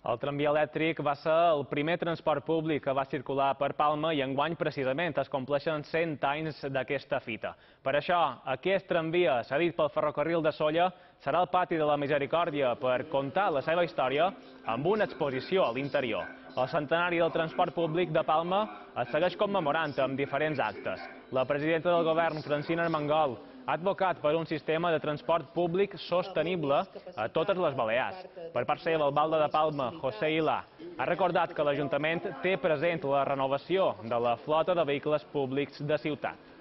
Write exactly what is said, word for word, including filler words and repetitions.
El tramvia elèctric va ser el primer transport públic que va circular per Palma i enguany precisament es compleixen cent anys d'aquesta fita. Per això, aquest tramvia, cedit pel ferrocarril de Sóller, serà al pati de la Misericòrdia per contar la seva història amb una exposició a l'interior. El centenari del transport públic de Palma es segueix commemorant amb diferents actes. La presidenta del govern, Francina Armengol, ha advocat per un sistema de transport públic sostenible a totes les Balears. Per part seva, l'alcalde de Palma, José Ilà, ha recordat que l'Ajuntament té present la renovació de la flota de vehicles públics de ciutat.